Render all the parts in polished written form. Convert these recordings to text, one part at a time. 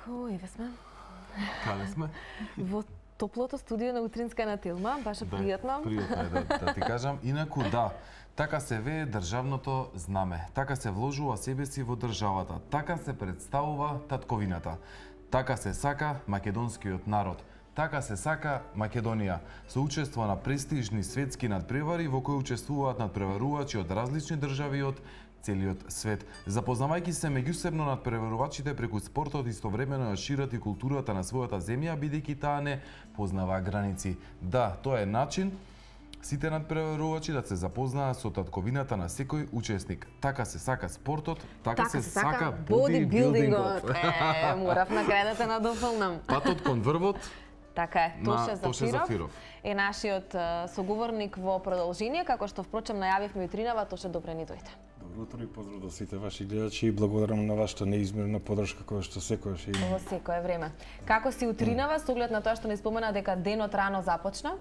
Еве сме. Каде сме? Во топлото студио на Утринска на Тилма, баш е пријатно. Пријатно е да ти кажам. Инаку да, така се вее државното знаме. Така се вложува себе си во државата. Така се представува татковината. Така се сака македонскиот народ. Така се сака Македонија, со учество на престижни светски надпревари во кои учествуваат надпреварувачи од различни држави од целиот свет. Запознавајќи се меѓусебно надпреварувачите преку спортот, истовремено ја шират и културата на својата земја, бидејќи таа не познава граници. Да, тоа е начин сите надпреварувачи да се запознаат со татковината на секој учесник. Така се сака спортот, така се сака бодибилдингот. Морав на крај да те надополнам. Патот кон врвот. Така е, Тоше Зафиров е нашиот соговорник во продолжение, како што впрочем најавивме утринава. Тоше, добре ни дојде. Добро утро и поздрав до сите ваши гледачи и благодарам на вашата неизмерна поддршка која што секојаш има. Во секое време. Како си утринава со оглед на тоа што не спомена дека денот рано започна?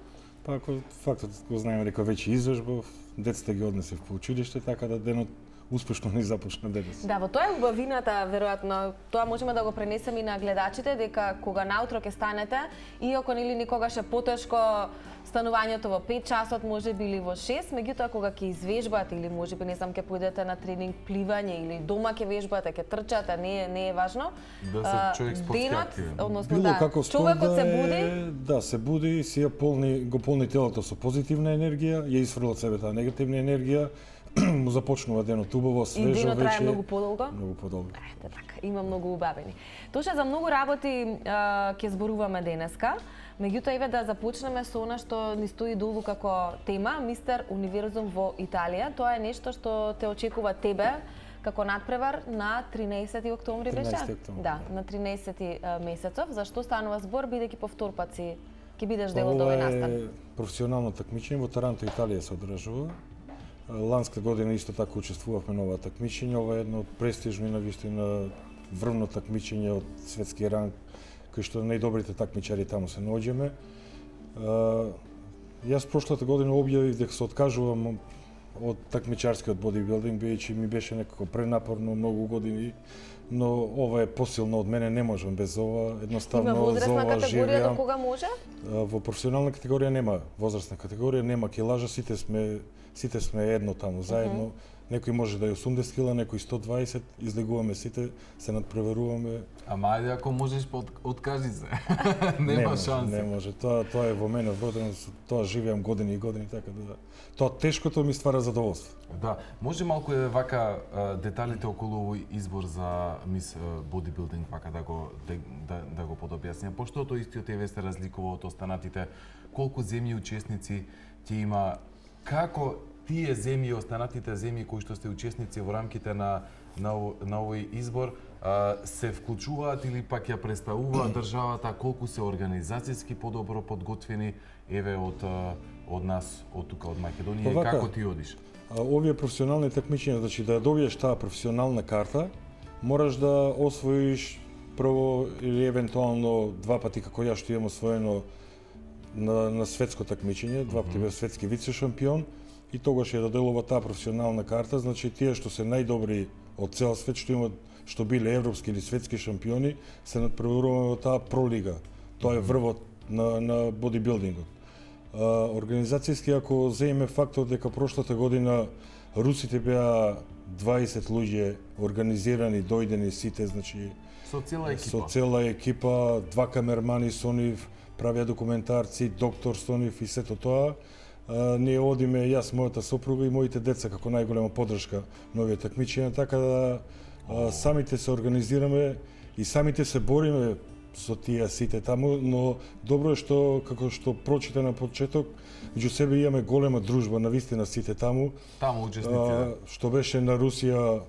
Па ако фактот го знаеме дека веќе изложбов, децата ги однесев по училиште, така да денот успешно не започна денес. Да, во тоа е убавината, веројатно. Тоа можеме да го пренесеме и на гледачите, дека кога наутро ќе станете, иако нели никогаш е потешко станувањето во 5 часот, можеби или во 6, меѓутоа кога ќе извежбате или можеби не знам ќе појдете на тренинг пливање или дома ќе вежбате, ќе трчате, не е важно. Да се човек спортски активен. Односно било да, како човекот се буди, да се буди, си ја го полни телото со позитивна енергија, ја изфрла од себе таа негативна енергија, му започнува денот убаво, свежо вече. И денот трае многу подолго? Многу подолго. Ете така, има многу убавени. Тоше за многу работи ќе зборуваме денеска. Меѓутоа еве да започнеме со она што ни стои долу како тема, Мистер Универзум во Италија. Тоа е нешто што те очекува тебе како надпревар на 13 октомври беше? 13 октомври. Да, на 13 месецов. Зашто станува збор, бидејќи повтор пат си ќе бидеш дел од овој настан? Ова е професионално такмичење во Таранто, Италија се одржува. Ланска година исто така учествувавме на ова такмичење. Ова е едно од престижни навистина врвно такмичење од светски ранг, кај што најдобрите такмичари таму се наоѓаме. Јас прошлата година објавив дека се откажувам од такмичарскиот бодибилдинг, бидејќи ми беше некако пренапорно многу години, но ова е посилно од мене, не можам без ова, едноставно Има возрастна категорија до кога може? Во професионална категорија нема возрастна категорија, нема килажа, сите сме едно таму заедно. Некој може да е 80 кила, некој 120, излегуваме сите, се надпреваруваме. Ама ајде ако можеш откажи се. Нема шанса. Не може, тоа е во мене вродено, тоа живеам години и години, така да тоа тешкото ми ствара задоволство. Да, може малку вака деталите околу овој избор за Мис Бодибилдинг вака да го подобјаснија, пошто тоа истиот еве се разликува од останатите, колку земји учесници ќе има, како тие земји, останатите земји кои што сте учесници во рамките на овој избор се вклучуваат или пак ја представуваат државата, колку се организацијски подобро подготвени еве од нас, од тука од Македонија, и како ти одиш? Овие професионални такмичења, значи да добиеш таа професионална карта, мораш да освоиш прво или евентуално два пати како ја што имам освоено на светско такмичење, два пати бев светски вице шампион, и тогаш ја доделува таа професионална карта, значи тие што се најдобри од цел свет, што биле европски или светски шампиони, се надпреваруваме во таа пролига. Тоа е врвот на бодибилдингот. Организацијски, ако земеме фактот дека прошлата година русите беа 20 луѓе организирани, дојдени сите, значи со цела екипа, два камермани со нив, правија документарци, доктор со нив и сето тоа. Ние одиме, јас, мојата сопруга и моите деца како најголема поддршка на овие такмичења, така да самите се организираме и самите се бориме со тие сите таму, но добро е што, како што прочита на почеток, меѓу себе имаме голема дружба, навистина сите таму. Таму учесници, што беше на Русија,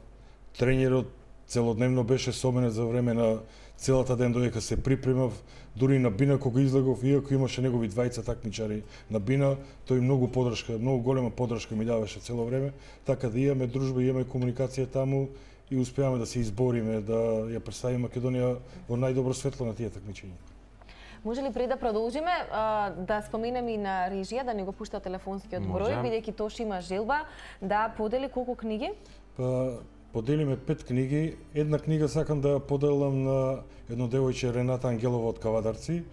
тренерот целодневно беше со мене за време на целата ден додека се припремав, дури на Бина кога излегов, иако имаше негови двајца такмичари на Бина, тој многу поддршка, многу голема поддршка ми даваше цело време, така да имаме дружба, имаме комуникација таму и успеаме да се избориме, да ја представиме Македонија во најдобро светло на тие такмичења. Може ли пред да продолжиме да споменеме и на режија да ни го пушта телефонскиот број, бидејќи Тош има желба да подели колку книги? Па поделиме 5 книги. Една книга сакам да ја поделам на едно девојче, Рената Ангелова од Кавадарци,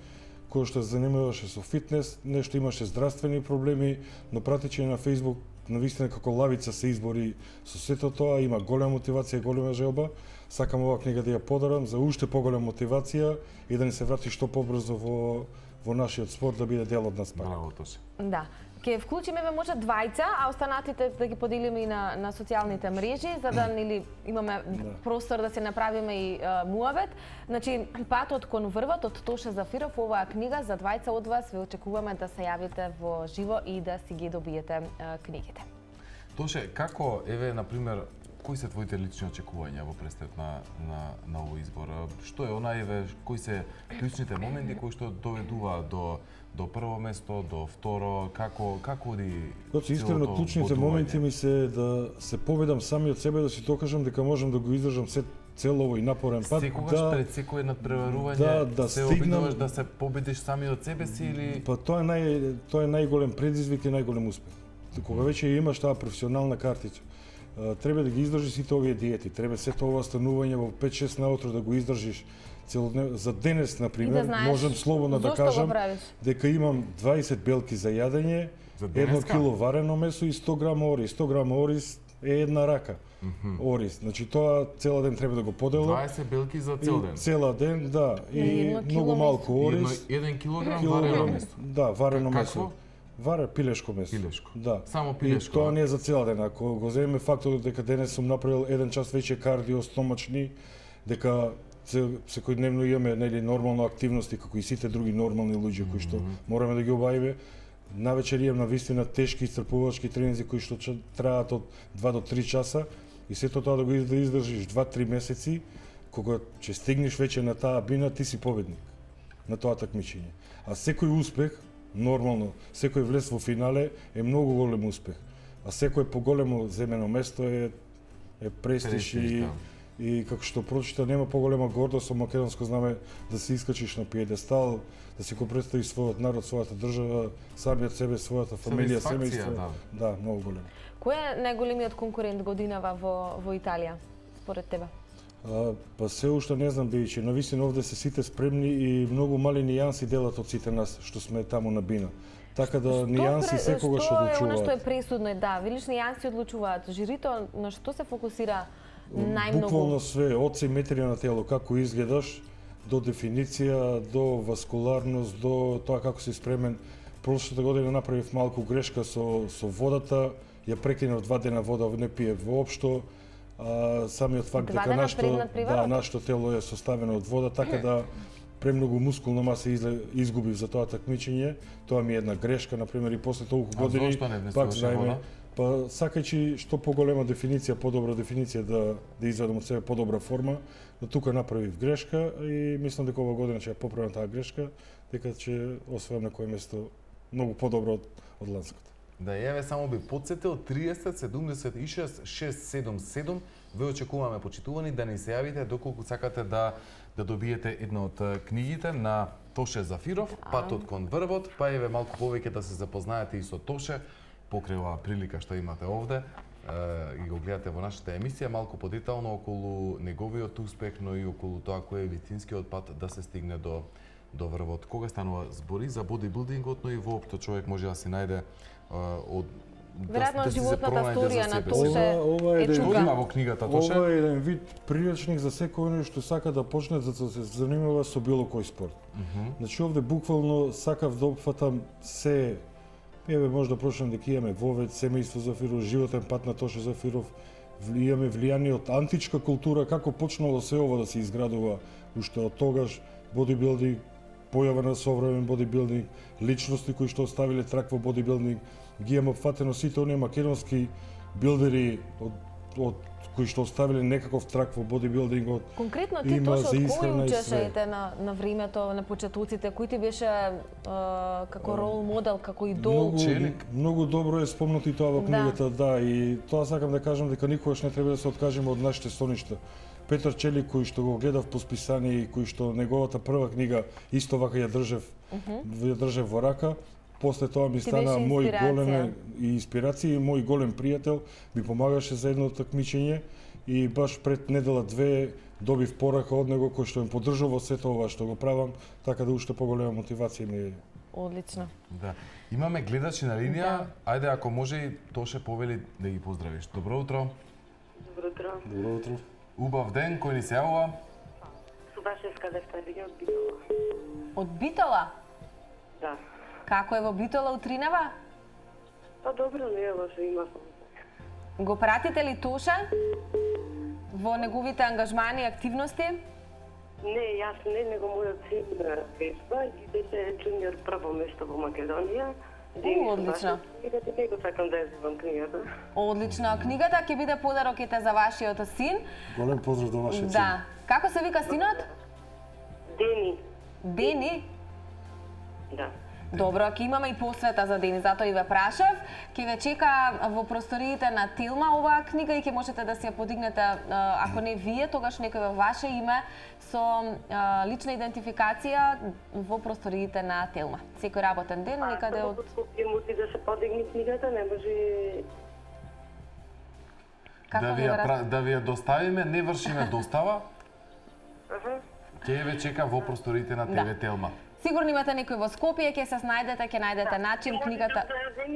која што се занимаваше со фитнес, нешто имаше здравствени проблеми, но пратичи на Facebook, навистина како лавица се избори со сето тоа, има голема мотивација, голема желба. Сакам оваа книга да ја подарам за уште поголема мотивација и да ни се врати што побрзо во нашиот спорт, да биде дел од нас пак. Браво, Тоше. Да. Ке вклучиме може двајца, а останатите да ги поделиме и на социјалните мрежи, за да нели имаме простор да се направиме и муавет. Значи, Патот кон врвот од Тоше Зафиров, оваа книга за двајца од вас, ве очекуваме да се јавите во живо и да си ги добиете книгите. Тоше, како, еве, например, кои се твоите лични очекувања во престрет на овој избор? Што е она, еве, кои се клучните моменти кои што доведува до прво место, до второ, како оди? Значи, искрено, клучните моменти ми се да се поведам сами од себе, да си докажам дека можам да го издржам цел овој напорен пат. Секогаш пред секој надпреварување се обидуваш да се победиш сами од себе си или? Па тоа е најголем предизвик и најголем успех. Кога веќе имаш таа професионална картичка, треба да ги издржиш сите овие диети, треба сето ова станување во 5-6 наутро да го издржиш целодневно. За денес, например, можам слободно да кажам дека имам 20 белки за јадење, 1 кило варено месо и 100 грама ориз. 100 грама ориз е една рака. Ориз. Значи тоа цела ден треба да го поделам. 20 белки за цел ден. Цела ден, да. И многу малку ориз. 1 килограм варено месо. Да, варено месо. Пилешко месо. Пилешко. Да. Само пилешко. И тоа не е за цел ден. Ако го земеме факторот дека денес сум направил 1 час веќе кардио стомачни, дека секојдневно имаме нели нормална активности како и сите други нормални луѓе кои што мораме да ги обавиме. Навечер имам навистина тешки исцрпувачки тренинзи кои што траат од 2 до 3 часа и сето тоа да го издржиш 2-3 месеци, кога ќе стигнеш веќе на таа бина, ти си победник на тоа такмичење. А секој успех, нормално, секој влез во финале е многу голем успех. А секој поголемо земено место е престиж и како што прочита, нема поголема гордост со македонско знаме да се искачиш на пиедестал, да си го представиш својот народ, својата држава, самиот себе, својата фамилија, семејство. Да, многу голем. Кој е најголемиот конкурент годинава во Италија, според тебе? Па се уште не знам, бијќи навистина овде се сите спремни и многу мали нијанси делат од сите нас што сме таму на бина. Така да нијанси секогаш одлучуваат. Што е она што е пресудно, да, велиш нијанси одлучуваат. Жирито на што се фокусира најмногу? Буквално све, од симетрија на тело, како изгледаш, до дефиниција, до васкуларност, до тоа како си спремен. Прошлата година направив малку грешка со водата, ја прекинав 2 дена вода, не пие воопшто. Самиот факт дека нашето тело е составено од вода, така да премногу мускулна маса изгубив за тоа такмичење. Тоа ми е една грешка, например, и после толку години пак знаеме. Па сакајќи што поголема дефиниција, подобра дефиниција да изведам од себе подобра форма, но тука направив грешка и мислам дека ова година ќе ја поправам таа грешка, дека ќе освојам на кое место многу подобро од ланското. Да, еве само би подсетил 30 76 677 ве очекуваме почитувани да ни се јавите доколку сакате да добиете една од книгите на Тоше Зафиров, Патот кон врвот, па еве малку повеќе да се запознаете и со Тоше покрај оваа прилика што имате овде и го гледате во нашата емисија малку подетално околу неговиот успех, но и околу тоа кој е вистинскиот пат да се стигне до врвот. Кога станува збори за бодибилдингот, но и воопшто човек може да си најде веројатно животната сторија на Тоше е Што има во книгата Тоше? Ова е еден вид приличник за секој што сака да почне да се занимава со било кој спорт. Значи овде буквално сакав да опфатам се. Еве може да прочитам дека имаме вовед, семејство Зафиров, животен пат на Тоше Зафиров, имаме влијание од античка култура, како почнало се ова да се изградува уште од тогаш, бодибилдинг, појава на современ бодибилдинг, личности кои што оставиле трак во бодибилдинг, ги имаме опфатено сите оние македонски билдери од кои што оставиле некаков трак во бодибилдингот. Конкретно ти Тоше, од кој учеше на времето, на почетоците, кој ти беше како рол модел, како идол? Многу добро е спомнато и тоа во книгата, да, и тоа сакам да кажам дека никогаш не треба да се откажеме од нашите соништа. Петар Челик, кој што го гледав по списание и кој што неговата прва книга исто вака ја држев во рака, после тоа ми стана мој голем инспирација и мој голем пријател, ми помагаше за едно такмичење и баш пред недела две добив порака од него кој што ме поддржува во сето ова што го правам, така да уште поголема мотивација ми е. Одлично. Да. Имаме гледачи на линија. Ајде, ако може и Тоше повели да ги поздравиш. Добро утро. Добро утро. Добро утро. Убав ден, кој ни се јавува? Субашевска Левтарија од Битола. Од Битола? Да. Како е во Битола утринава? Па добро, не е лошо, има. Го пратите ли Тоше во неговите ангажмани и активности? Не, јас не, него мојот син вежба и беше джуниор прво место во Македонија. Одлично. Книгата не го сакам да ја земам книгата. Одлично. Книгата ќе биде подарок ете за вашиот син. Голем поздрав до вашиот син. Да. Како се вика синот? Дени. Дени? Да. Добро, ќе имаме и посвета за Дени, затоа и ве прашав. Ќе ве чека во просториите на Телма оваа книга и ќе можете да си ја подигнете, ако не вие, тогаш некој во ваше име со лична идентификација во просториите на Телма. Секој работен ден, некаде од... Скопје мути да се подигне книгата, не може... Да ви ја доставиме, не вршиме достава. Ќе ве чека во просториите на ТВ Телма. Сигурно имате некој во Скопје, ќе се снајдете, ќе најдете начин книгата.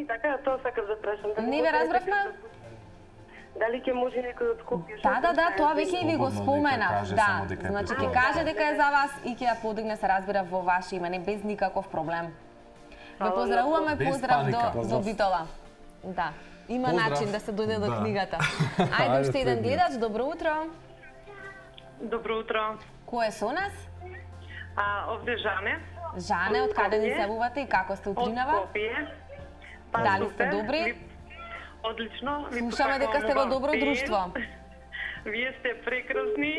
Така, тоа сакам да прашам. Не ве разбравме? Дали ќе може некој од Скопје? Да, тоа веќе и ви го споменав. Да, значи ќе каже дека е за вас и ќе ја подигне, се разбира, во ваше име, не без никаков проблем. Ве поздравуваме, поздрав до Битола. Да, има начин да се дојде до книгата. Ајде уште еден гледач, добро утро. Добро утро. Кој е со нас? Овде Жане. Жане, од каде ни се јавувате и како сте утринава? Од Скопје. Дали сте добри? Одлично. Слушаме дека сте во добро друштво. Вие сте прекрасни.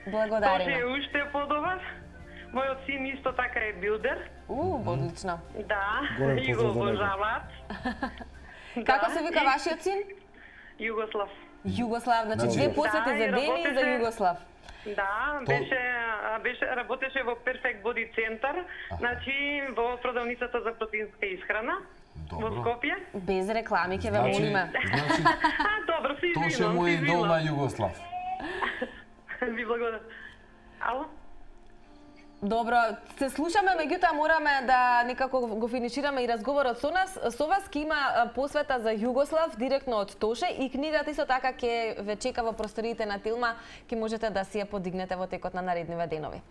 Благодариме. Тоше е уште подобар. Мојот син исто така е билдер. Одлично. Да, и го обожаваат. Како се вика вашиот син? Југослав. Југослав, значи две посети за Дени и за Југослав. Да, работеше во Perfect Body Center, значи во продавницата за протеинска исхрана во Скопје. Без реклами ќе ве молиме. Значи, добро, си извинам. Тоше му идол на Југослав. Ви благодарам. Ало? Добро, се слушаме, меѓутоа мораме да некако го финишираме и разговорот со нас. Со вас ќе има посвета за Југослав директно од Тоше и книгата исто така ќе ве чека во просториите на Телма, ќе можете да си ја подигнете во текот на наредниве денови.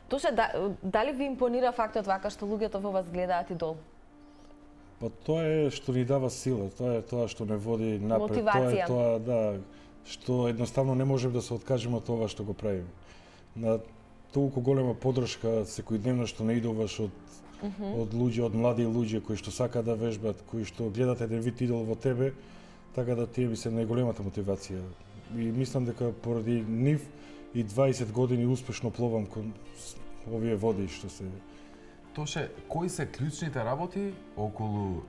Тоше, дали ви импонира фактот вака што луѓето во вас гледаат идол? Па тоа е што ни дава сила, тоа е тоа што не води напред, мотивација. Тоа е тоа што едноставно не можеме да се откажеме од ова што го правиме. На толку голема поддршка секојдневно што наидуваш од луѓе, од млади луѓе кои што сакаат да вежбат, кои што гледат еден вид идол во тебе, така да тие би се најголемата мотивација. И мислам дека поради нив и 20 години успешно пловам кон овие води што се... Тоше, кои се клучните работи околу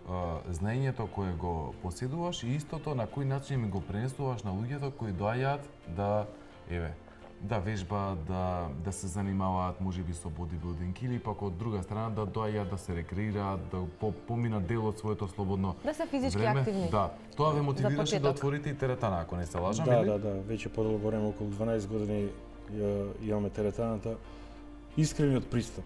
знаењето кое го поседуваш и истото на кој начин ми го пренесуваш на луѓето кои доаѓаат да вежбаат, да се занимаваат можеби со бодибилдинг или пак од друга страна да доаѓаат да се рекреираат, да поминат дел од своето слободно Да се физички време. активни. Да, тоа ве мотивираше да отворите и теретана, ако не се лажам, или? Да, веќе подолго време, околу 12 години имаме теретаната. Искрениот пристап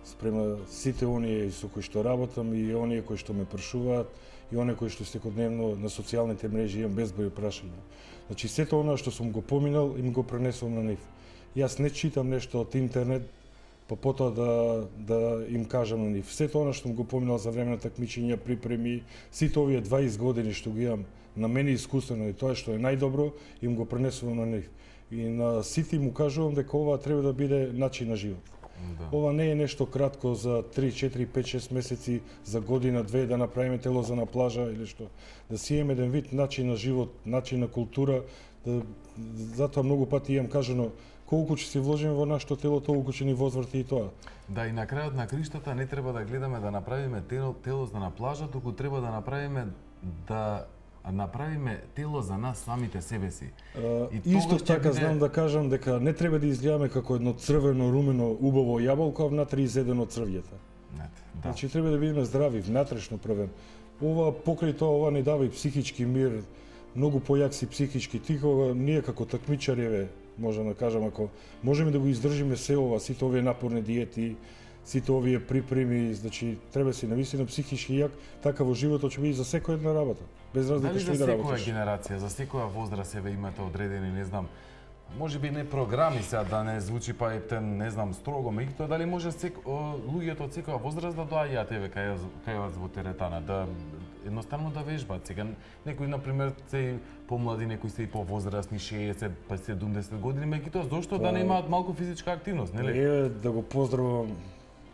спрема сите оние со кои што работам и оние кои што ме прашуваат и оние кои што секојдневно на социјалните мрежи имам безброј прашања. Значи сето она што сум го поминал им го пренесувам на нив. Јас не читам нешто од интернет па потоа да им кажам на нив. Сето она што го поминал за време на такмичења, припреми, сите овие 20 години што ги имам на мене искуствено и тоа што е најдобро, им го пренесувам на нив. И на сите им кажувам дека ова треба да биде начин на живот. Да. Ова не е нешто кратко за 3, 4, 5, 6 месеци, за година, две да направиме тело за на плажа или што. Да си имаме еден вид начин на живот, начин на култура, затоа многу пати имам кажано колку ќе се вложиме во нашето тело, толку ќе ни возврати и тоа. Да, и на крајот на криштата не треба да гледаме да направиме тело за на плажа, туку треба да направиме тело за нас самите себе си. Исто така знам да кажам дека не треба да изгледаме како едно црвено, румено, убаво јаболко, а внатре изедено од црвјата. Да. Значи треба да бидеме здрави, внатрешно првен. Ова покрај тоа ова ни дава и психички мир, многу појак си психички. Ти кога ние како такмичари, можам да кажам, ако можеме да го издржиме се ова, сите овие напорни диети, сите овие припреми, значи треба си навистина психички јак, така во животот ќе биде за секоја една работа. Без разлика што и да работиш. За секоја генерација, за секоја возраст еве имате одредени, не знам, може би не програми сега да не звучи па ептен, не знам, строго, меѓутоа дали може луѓето од секоја возраст да доаѓаат еве кај вас во теретана, да едноставно да вежбаат. Сега некои на пример се помлади, некои се и повозрастни, 60 па 70 години, меѓутоа зошто да не имаат малку физичка активност, нели? Еве да го поздравам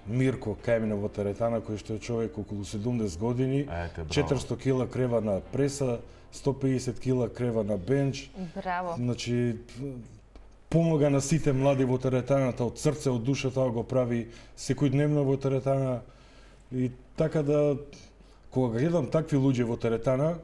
Мирко Кајмина во теретана, кој што е човек околу 70 години, 400 кила крева на преса, 150 кила крева на бенч. Браво. Значи, помога на сите млади во теретаната, од срце, од душа, тоа го прави секојдневно во теретана. И така да, кога гледам такви луѓе во теретана,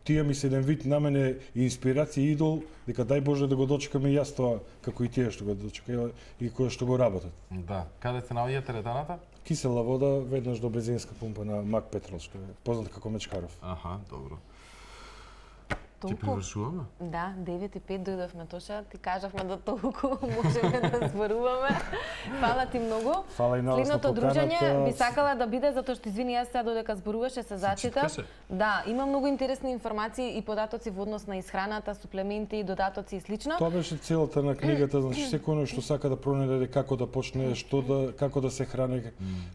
тие ми се еден вид на мене инспирација и идол, дека дај Боже да го дочекаме и јас тоа, како и тие што го дочекаја и кои што го работат. Да. Каде се наоѓа теретаната? Кисела вода, веднаш до бензинска пумпа на Мак Петрол, што е познат како Мечкаров. Аха, добро. Ќе Толку? привршуваме? Да, 9:05 дојдовме, Тоша, ти кажавме да толку можеме да зборуваме. Фала ти многу. Фала и на вас на Следното дружење поканата. би сакала да биде, затоа што извини, јас сега додека зборуваше се зачита. Да, има многу интересни информации и податоци во однос на исхраната, суплементи, додатоци и слично. Тоа беше целата на книгата, значи секој оној што сака да пронајде како да почне, како да се храни,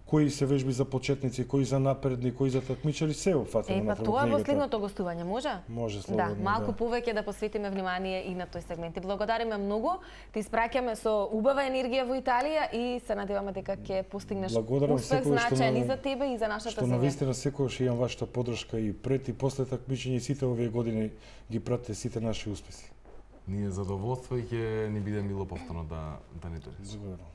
кои се вежби за почетници, кои за напредни, кои за такмичари, се опфатено Па на тоа во книгата. следното гостување може? Може Да, слободно. малку повеќе да посветиме внимание и на тој сегмент. Ти благодариме многу, ти испраќаме со убава енергија во Италија и се надеваме дека ќе постигнеш Благодарам успех секој што значаен на- и за тебе и за нашата Што земја. навистина секогаш имам вашата поддршка и пред и после такмичење и сите овие години ги пратите сите наши успеси. Ние задоволство и ќе ни биде мило повторно да ни дојдеш. Благодарам.